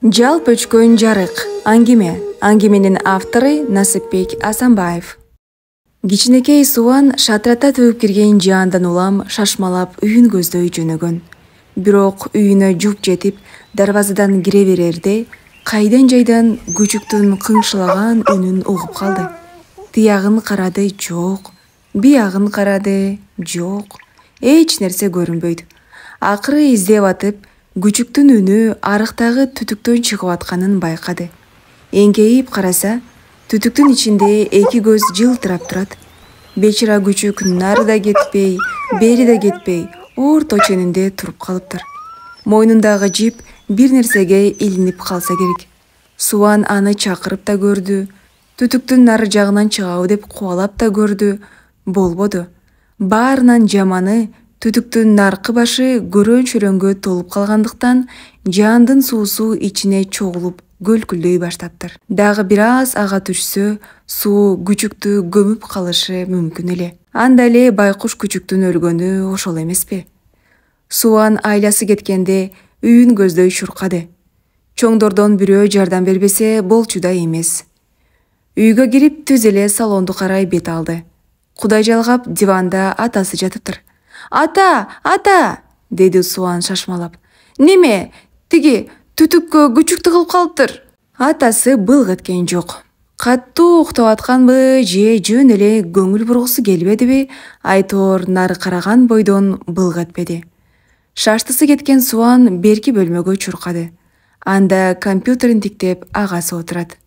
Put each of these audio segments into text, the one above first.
Жалп өчкөн жарык. Аңгеменин автору Насипбек Асанбаев. Кичинекей Суан шатрата төгүп кирген жаандан улам шашмалап үйүн көздөй жөнөгөн. Бирок үйүнө жуп жетип, дарбазадан кире берерде кайдан жайдан күчүктүн кыңшылаган үнүн угуп калды. Тиягын карады, жок. Биягын карады, жок. Эч нерсе көрүнбөйт. Акыры издеп атып, күчүктүн үнү арыктагы түтүктөн чыгып атканын байкады. Эңкейип караса, түтүктүн ичинде эки көз жылтырап турат. Бечара күчүк нары да кетпей, бери да кетпей, орто ченинде туруп калыптыр. Мойнундагы жип бир нерсеге илинип калса керек. Суан аны чакырып да көрдү, түтүктүн нары жагынан чыгабы деп кубалап да көрдү, болбоду. Баарынан жаманы түтүктүн наркы башы көрөн-чөрөнгө толуп калгандыктан жаандын суусу ичине чогулуп көлкүлдөй баштаптыр. Дагы бир аз ага түшсө, суу күчүктү көмүп калышы мүмкүн эле. Анда эле байкуш күчүктүн өлгөнү ошол эмеспи? Суан айласы кеткенде үйүн көздөй чуркады. Чоңдордон бирөө жардам бербесе болчу да эмес. Үйгө кирип түз эле салонду карай бет алды. Кудай жалгап диванда атасы жатыптыр. Ата! Деди Суан шашмалап. Неме? Тиги түтүккө күчүк тыгылып калыптыр. Атасы былк эткен жок. Каттуу уктап атканбы же жөн эле көңүл бургусу келбедиби, айтоор нары караган бойдон былк этпеди. Шаштысы кеткен Суан берки бөлмөгө чуркады. Анда компьютерин тиктеп агасы отурат.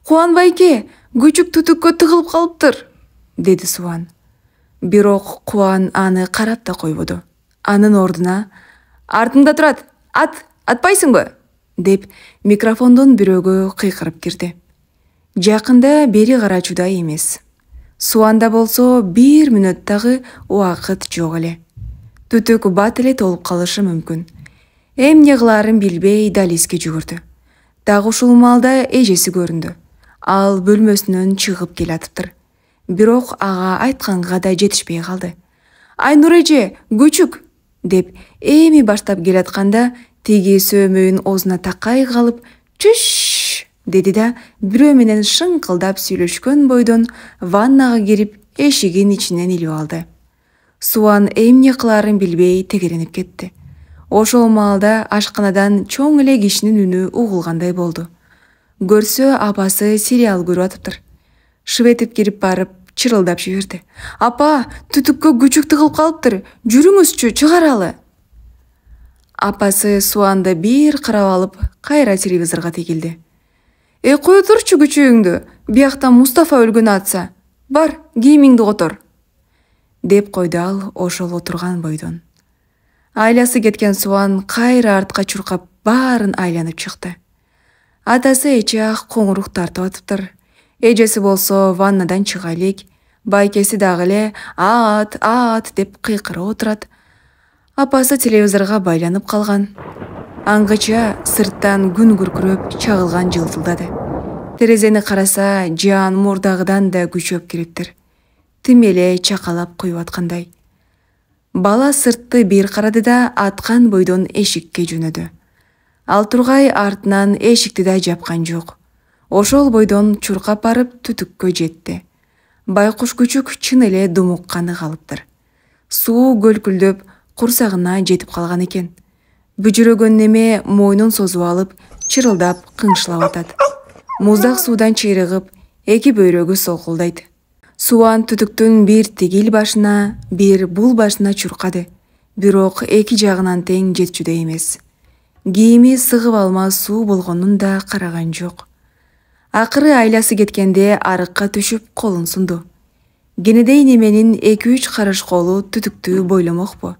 Кубанбайке, күчүк түтүккө тыгылып калыптыр, деди Суан. Бирок Кубан аны карап да койбоду. Анын ордуна артыңда турат, атпайсыңбы? Деп микрофондон бирөөгө кыйкырып кирди. Жакында бери карачудай эмес. Суанда болсо бир мүнөттагы убакыт жок эле. Түтүк бат эле толуп калышы мүмкүн. Эмне кылаарын билбей далиске жүгүрдү. Дагы ушул маалда эжеси көрүндү. Ал бөлмөсүнөн чыгып келатыптыр. Бирок ага айтканга да жетишпей калды. Айнур эже, күчүк! Деп эми баштап келатканда тиги сөөмөйүн оозуна такай калып, чүш! Деди да бирөө менен шыңкылдап сүйлөшкөн бойдон ваннага кирип эшигин ичинен илип алды. Суан эмне кылаарын билбей тегеренип кетти. Ошол маалда ашканадан чоң эле кишинин үнү угулгандай болду. Көрсө апасы сериал көрүп атыптыр. Шыбетип кирип барып чырылдап жиберди. Апа, түтүккө күчүк тыгылып калыптыр. Жүрүңүзчү, чыгаралы. Апасы Суанды бир карап алып, кайра телевизорго тегилди. Кое турчу күчүгүңдү, биякта Мустафа өлгөн атса. Бар, кийимиңди котор. Деп койду ал ошол отурган бойдон. Айласы кеткен Суан кайра артка чуркап баарын айланып чыкты. Атасы эчак коңурук тартып атыптыр. Эжеси болсо ваннадан чыга элек, байкеси дагы эле аат деп кыйкырып отурат. Апасы телевизорго байланып калган. Аңгыча сырттан күн күркүрөп, чагылган жылтылдады. Терезени караса, жаан мурдагыдан да күчөп кириптир. Тим эле чакалап куюп аткандай. Бала сыртты бир карады да аткан бойдон эшикке жөнөдү. Ал тургай артынан эшикти да жапкан жок. Ошол бойдон чуркап барып түтүккө жетти. Байкуш күчүк чын эле думукканы калыптыр. Суу көлкүлдөп курсагына жетип калган экен. Бүжүрөгөн неме мойнун созуп алып, чырылдап кыңшылап атат. Муздак суудан чыйрыгып, эки бөйрөгү солкулдайт. Суан түтүктүн бир тигил башына, бир бул башына чуркады. Бирок эки жагынан тең жетчүдөй эмес. Кийими сыгып алмас суу болгонун да караган жок. Акыры айласы кеткенде арыкка түшүп колун сунду. Кенедей неменин 2-3 карыш колу түтүктү бойломокпу.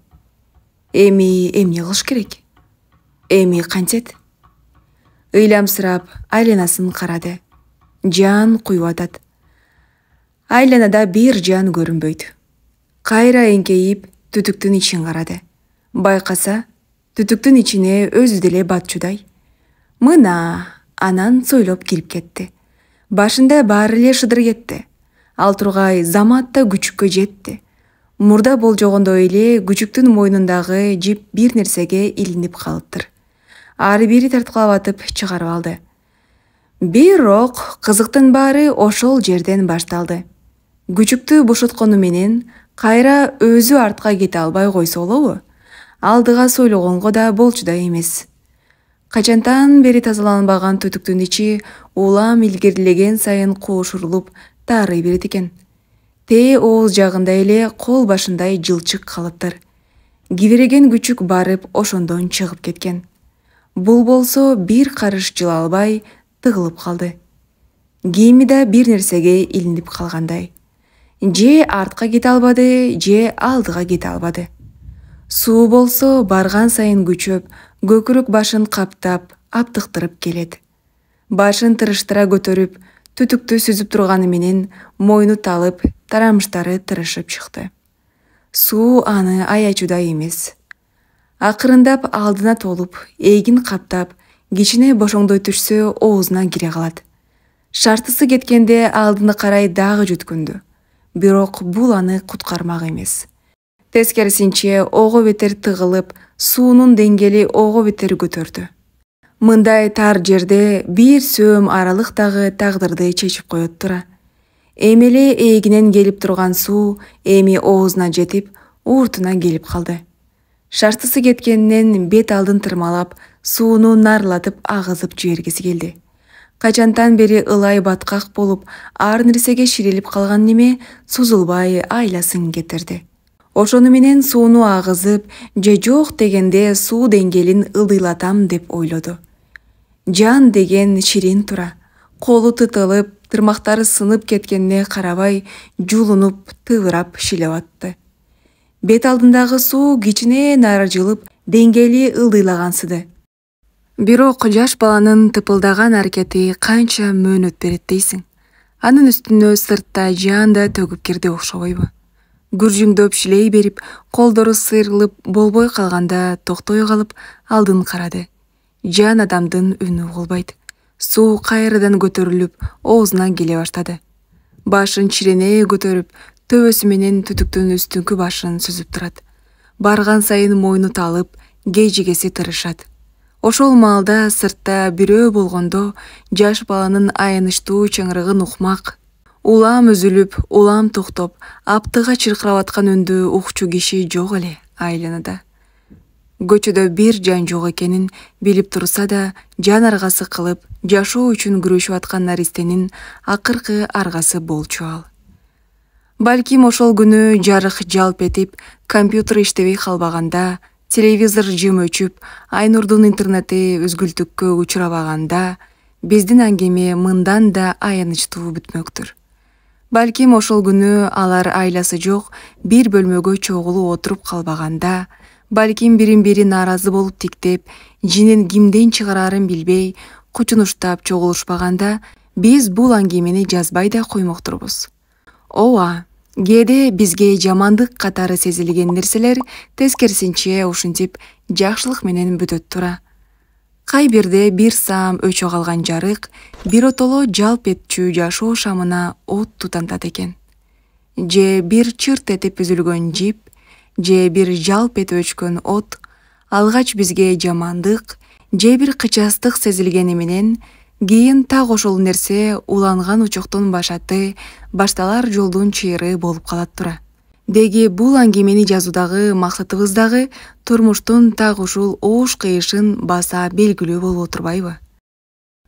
Эми эмне кылыш керек? Эми кантет? Ыйламсырап айланасын карады. Жаан куюп атат. Айланада бир жан көрүнбөйт. Кайра эңкейип түтүктүн ичин карады. Байкаса, түтүктүн ичине өзү деле батчудай. Мына, анан сойлоп кирип кетти. Башында баары эле шыдыр кетти. Ал тургай замат да күчүккө жетти. Мурда болжогондой эле күчүктүн мойнундагы жип бир нерсеге илинип калыптыр. ары бери тарткылап атып чыгарып алды. Бирок кызыктын баары ошол жерден башталды. Күчүктү бошоткону менен кайра өзү артка кете албай койсо болобу? Алдыга сойлогонго да болчу да эмес. Качантан бери тазаланбаган түтүктүн ичи улам илгерилеген сайын куушурулуп таарый берет экен. Тээ ооз жагында эле кол башындай жылчык калыптыр. Кибиреген күчүк барып ошондон чыгып кеткен. Бул болсо бир карыш жыла албай тыгылып калды. Кийими да бир нерсеге илинип калгандай. Же артка кете албады, же алдыга кете албады. Суу болсо барган сайын күчөп, көкүрөк башын каптап, аптыктырып келет. Башын тырыштыра көтөрүп, түтүктү сүзүп турганы менен мойну талып, тарамыштары тырышып чыкты. Суу аны аячудай эмес. Акырындап алдына толуп, эгин каптап, кичине бошоңдой түшсө оозуна кире калат. Шартысы кеткенде алдына карай дагы жүткүндү. Бирок бул аны куткармак эмес. Тескерисинче ого бетер тыгылып, суунун деңгээли ого бетер көтөрдү. Мындай тар жерде бир сөөм аралык дагы тагдырды чечип коет тура. Эми эле эгинен келип турган суу эми оозуна жетип, ууртуна келип калды. Шартысы кеткенинен бет алдын тырмалап, сууну нарылатып агызып жибергиси келди. Качантан бери ылай баткак болуп, ар нерсеге ширилип калган неме созулбай айласын кетирди. Ошону менен сууну агызып, же жок дегенде суу деңгээлин ылдыйлатам деп ойлоду. Жан деген ширин тура. Колу тытылып, тырмактары сынып кеткенине карабай, жулунуп, тыбырап шилеп атты. Бет алдындагы суу кичине нары жылып, деңгээли ылдыйлагансыды. Бирок жаш баланын тыпылдаган аракети канча мөөнөт берет дейсиң. Анын үстүнө сыртта жан да төгүп кирди окшобойбу? Гүржүңдөп шилей берип, колдору сыйрылып болбой калганда токтой калып, алдын карады. Жан адамдын үнү болбойт. Суу кайрадан көтөрүлүп, оозуна келе баштады. Башын чирене көтөрүп, төбөсү менен түтүктүн үстүңкү башын сүзүп турат. Барган сайын мойну талып, кежигеси тырышат. Ошол маалда сыртта бирөө болгондо жаш баланын аянычтуу чыңырыгын укмак, улам үзүлүп, улам токтоп, аптыга чыркырап аткан үндү укчу киши жок эле айланада. Көчөдө бир жан жок экенин билип турса да, жан аргасы кылып, жашоо үчүн күрөшүп аткан наристенин акыркы аргасы болчу ал. Балким ошол күнү жарык жалп этип, компьютер иштебей калбаганда, телевизор жым өчүп, Айнурдун интернети үзгүлтүккө учурабаганда, биздин аңгеме мындан да аянычтуу бүтмөктүр. Балким ошол күнү алар айласы жок, бир бөлмөгө чогулуп отуруп калбаганда, балким бирин-бири нааразы болуп тиктеп, жинин кимден чыгарарын билбей, кучунуштап чогулушпаганда, биз бул аңгемени жазбай да коймоктурбуз. Ооба, кээде бизге жамандык катары сезилген нерселер тескерисинче ушинтип жакшылык менен бүтөт тура. Кай бирде бир саам өчө калган жарык биротоло жалп этчү жашоо шамына от тутантат экен. Же бир чырт этип үзүлгөн жип, же бир жалп этип өчкөн от алгач бизге жамандык, же бир кычастык сезилгени менен кийин так ошол нерсе уланган учоктун башаты, башталар жолдун чыйыры болуп калат тура. Деги бул аңгемени жазуудагы максатыбыз дагы турмуштун так ушул оош кыйышын баса белгилүү болуп отурбайбы?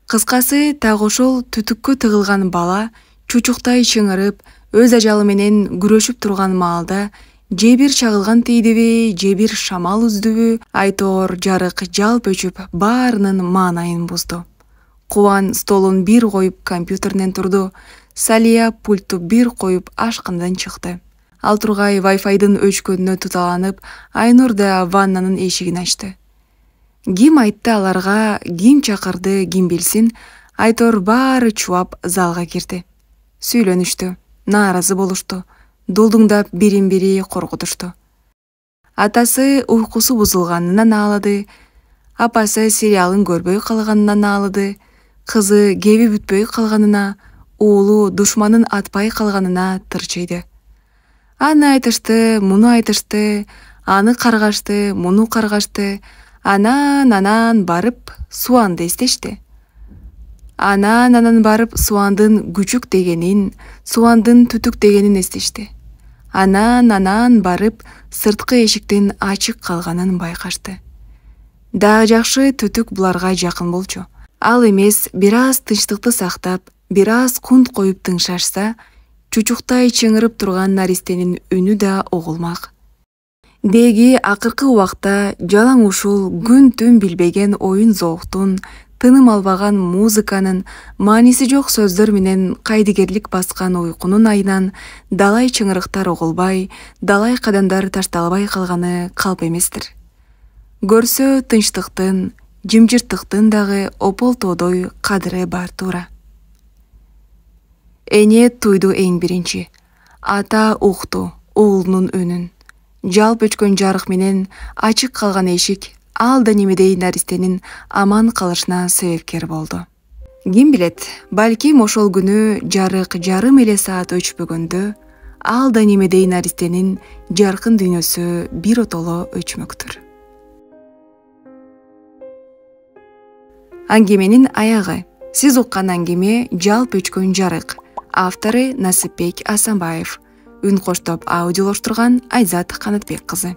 Кыскасы, так ошол түтүккө тыгылган бала чучуктай чыңырып, өз ажалы менен күрөшүп турган маалда же бир чагылган тийдиби, же бир шамал үздүбү, айтоор жарык жалп өчүп баарынын маанайын бузду. Кубан столун бир коюп компьютеринен турду, Салия пультту бир коюп ашкандан чыкты. Ал тургай Wi-Fi'дын өчкөнүнө туталанып, Айнур да ваннанын эшигин ачты. Ким айтты аларга, ким чакырды, ким билсин, айтор баары чубап залга кирди. Сүйлөнүштү, нааразы болушту, дулдуңдап бирин-бири коркутушту. Атасы уйкусу бузулганынан аалады, апасы сериалын көрбөй калганынан аалады, кызы кеби бүтпөй калганына, уулу душманын атпай калганына тырчыйды. Аны айтышты, муну айтышты, аны каргашты, муну каргашты, Анан барып Суанды эстешти. Анан барып Суандын күчүк дегенин, Суандын түтүк дегенин эстешти. Анан барып сырткы эшиктин ачык калганын байкашты. Дагы жакшы түтүк буларга жакын болчу. Ал эмес бир аз тынчтыкты сактап, бир аз кунт коюп тыңшашса, чучуктай чыңырып турган наристенин үнү да угулмак. Деги акыркы убакта жалаң ушул күн-түн билбеген оюн зооктун, тыным албаган музыканын, мааниси жок сөздөр менен кайдыгерлик баскан уйкунун айынан далай чыңырыктар угулбай, далай кадамдар ташталбай калганы калп эместир. Көрсө тынчтыктын, жымжырттыктын дагы ополтоодой кадыры бар туура. Эне туйду эң биринчи. Ата укту уулунун үнүн. Жалп өчкөн жарык менен ачык калган эшик ал да немедей наристенин аман калышына себепкер болду. Ким билет, балким ошол күнү жарык жарым эле саат өчпөгөндө ал да немедей наристенин жаркын дүйнөсү биротоло өчмөктүр. Аңгеменин аягы. Сиз уккан аңгеме «Жалп өчкөн жарык». Автору Насипбек Асанбаев. Үн коштоп аудиолоштурган Айзат Канатбек кызы.